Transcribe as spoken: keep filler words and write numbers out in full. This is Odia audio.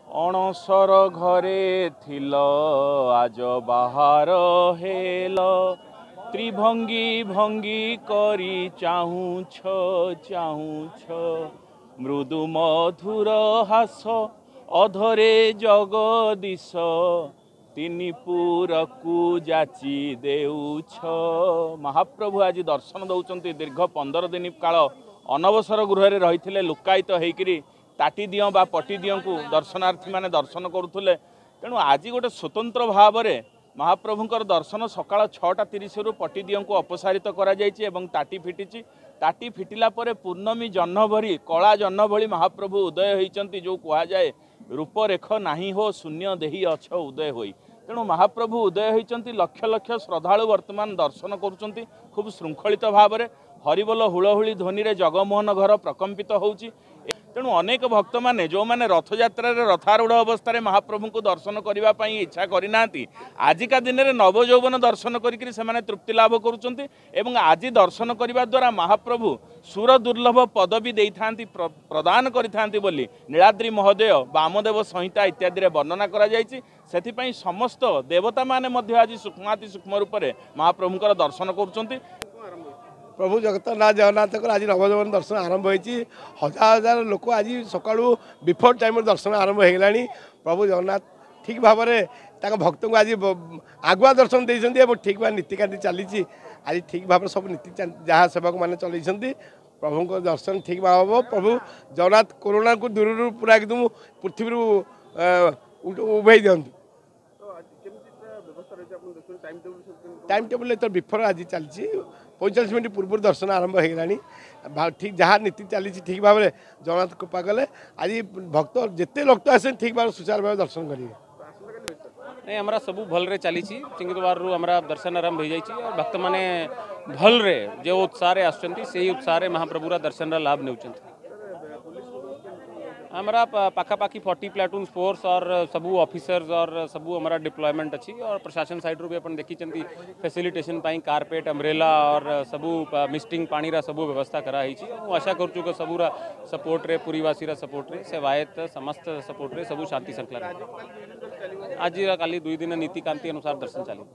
ଅଣସର ଘରେ ଥିଲ ଆଜ ବାହାର ହେଲ, ତ୍ରିଭଙ୍ଗୀ ଭଙ୍ଗୀ କରି ଚାହୁଁଛ ଚାହୁଁଛ, ମୃଦୁ ମଧୁର ହାସ ଅଧରେ ଜଗଦୀଶ, ତିନି ପୁରକୁ ଯାଚି ଦେଉଛ। ମହାପ୍ରଭୁ ଆଜି ଦର୍ଶନ ଦେଉଛନ୍ତି। ଦୀର୍ଘ ପନ୍ଦର ଦିନ କାଳ ଅନବସର ଗୃହରେ ରହିଥିଲେ ଲୁକାୟିତ ହେଇକିରି, ତାଟି ଦିଅଁ ବା ପଟି ଦିଅଁଙ୍କୁ ଦର୍ଶନାର୍ଥୀମାନେ ଦର୍ଶନ କରୁଥିଲେ। ତେଣୁ ଆଜି ଗୋଟେ ସ୍ୱତନ୍ତ୍ର ଭାବରେ ମହାପ୍ରଭୁଙ୍କର ଦର୍ଶନ ସକାଳ ଛଅଟା ତିରିଶରୁ ପଟି ଦିଅଁଙ୍କୁ ଅପସାରିତ କରାଯାଇଛି ଏବଂ ତାଟି ଫିଟିଛି। ତାଟି ଫିଟିଲା ପରେ ପୂର୍ଣ୍ଣମୀ ଜହ୍ନ ଭଳି, କଳା ଜହ୍ନ ଭଳି ମହାପ୍ରଭୁ ଉଦୟ ହୋଇଛନ୍ତି। ଯେଉଁ କୁହାଯାଏ ରୂପରେଖ ନାହିଁ ହୋ ଶୂନ୍ୟ ଦେହି ଅଛ ଉଦୟ ହୋଇ, ତେଣୁ ମହାପ୍ରଭୁ ଉଦୟ ହୋଇଛନ୍ତି। ଲକ୍ଷ ଲକ୍ଷ ଶ୍ରଦ୍ଧାଳୁ ବର୍ତ୍ତମାନ ଦର୍ଶନ କରୁଛନ୍ତି ଖୁବ୍ ଶୃଙ୍ଖଳିତ ଭାବରେ। ହରିବୋଲ ହୁଳହୁଳି ଧ୍ୱନିରେ ଜଗମୋହନ ଘର ପ୍ରକମ୍ପିତ ହେଉଛି। ତେଣୁ ଅନେକ ଭକ୍ତମାନେ ଯେଉଁମାନେ ରଥଯାତ୍ରାରେ ରଥାରୂଢ଼ ଅବସ୍ଥାରେ ମହାପ୍ରଭୁଙ୍କୁ ଦର୍ଶନ କରିବା ପାଇଁ ଇଚ୍ଛା କରିନାହାନ୍ତି, ଆଜିକା ଦିନରେ ନବଯୌବନ ଦର୍ଶନ କରିକିରି ସେମାନେ ତୃପ୍ତି ଲାଭ କରୁଛନ୍ତି। ଏବଂ ଆଜି ଦର୍ଶନ କରିବା ଦ୍ୱାରା ମହାପ୍ରଭୁ ସୁର ଦୁର୍ଲଭ ପଦବୀ ଦେଇଥାନ୍ତି, ପ୍ରଦାନ କରିଥାନ୍ତି ବୋଲି ନୀଳାଦ୍ରି ମହୋଦୟ, ବାମଦେବ ସଂହିତା ଇତ୍ୟାଦିରେ ବର୍ଣ୍ଣନା କରାଯାଇଛି। ସେଥିପାଇଁ ସମସ୍ତ ଦେବତାମାନେ ମଧ୍ୟ ଆଜି ସୂକ୍ଷ୍ମାତି ସୂକ୍ଷ୍ମ ରୂପରେ ମହାପ୍ରଭୁଙ୍କର ଦର୍ଶନ କରୁଛନ୍ତି। ପ୍ରଭୁ ଜଗନ୍ନାଥ ଜଗନ୍ନାଥଙ୍କର ଆଜି ନବଯୌବନ ଦର୍ଶନ ଆରମ୍ଭ ହୋଇଛି। ହଜାର ହଜାର ଲୋକ ଆଜି ସକାଳୁ ବିଫୋର୍ ଟାଇମ୍ରୁ ଦର୍ଶନ ଆରମ୍ଭ ହୋଇଗଲାଣି। ପ୍ରଭୁ ଜଗନ୍ନାଥ ଠିକ୍ ଭାବରେ ତାଙ୍କ ଭକ୍ତଙ୍କୁ ଆଜି ଆଗୁଆ ଦର୍ଶନ ଦେଇଛନ୍ତି ଏବଂ ଠିକ୍ ଭାବେ ନୀତିକାନ୍ତି ଚାଲିଛି। ଆଜି ଠିକ୍ ଭାବରେ ସବୁ ନୀତି ଯାହା ସେବକମାନେ ଚଲେଇଛନ୍ତି, ପ୍ରଭୁଙ୍କ ଦର୍ଶନ ଠିକ୍ ଭାବେ ହେବ। ପ୍ରଭୁ ଜଗନ୍ନାଥ କରୋନାକୁ ଦୂରରୁ ପୁରା ଏକଦମ ପୃଥିବୀରୁ ଉଭେଇ ଦିଅନ୍ତୁ। ଟାଇମ୍ ଟେବୁଲ୍ ଏଥର ବିଫୋର୍ ଆଜି ଚାଲିଛି, ପଇଁଚାଳିଶ ମିନିଟ୍ ପୂର୍ବରୁ ଦର୍ଶନ ଆରମ୍ଭ ହୋଇଗଲାଣି। ଠିକ୍ ଯାହା ନୀତି ଚାଲିଛି ଠିକ୍ ଭାବରେ ଜଗନ୍ନାଥ କୃପା କଲେ ଆଜି ଭକ୍ତ ଯେତେ ଭକ୍ତ ଆସନ୍ତି ଠିକ୍ ଭାବରେ ସୁଚାରୁ ଭାବେ ଦର୍ଶନ କରିବେ। ନାଇଁ, ଆମର ସବୁ ଭଲରେ ଚାଲିଛି। ସିଂହଦ୍ୱାରରୁ ଆମର ଦର୍ଶନ ଆରମ୍ଭ ହୋଇଯାଇଛି ଆଉ ଭକ୍ତମାନେ ଭଲରେ ଯେଉଁ ଉତ୍ସାହରେ ଆସୁଛନ୍ତି, ସେଇ ଉତ୍ସାହରେ ମହାପ୍ରଭୁର ଦର୍ଶନର ଲାଭ ନେଉଛନ୍ତି। ଆମର ପାଖାପାଖି ଫର୍ଟି ପ୍ଲାଟୁନ୍ ଫୋର୍ସ और ସବୁ ଅଫିସର୍ସ और ସବୁ ଆମର ଡିପ୍ଲୟମେଣ୍ଟ ଅଛି। और ପ୍ରଶାସନ ସାଇଡ଼ରୁ ବି ଆପଣ ଦେଖିଛନ୍ତି, ଫେସିଲିଟେସନ୍ ପାଇଁ କାର୍ପେଟ୍, ଅମ୍ବ୍ରେଲା और ସବୁ ମିଷ୍ଟିଂ ପାଣିର ସବୁ ବ୍ୟବସ୍ଥା କରାହେଇଛି। ମୁଁ ଆଶା କରୁଛୁ କି ସବୁର ସପୋର୍ଟରେ, ପୁରୀବାସୀର ସପୋର୍ଟରେ, ସେବାୟତ ସମସ୍ତ ସପୋର୍ଟରେ ସବୁ ଶାନ୍ତି ଶୃଙ୍ଖଳା। ଆଜି କାଲି ଦୁଇ ଦିନ ନୀତିକାନ୍ତି ଅନୁସାର ଦର୍ଶନ ଚାଲିବ।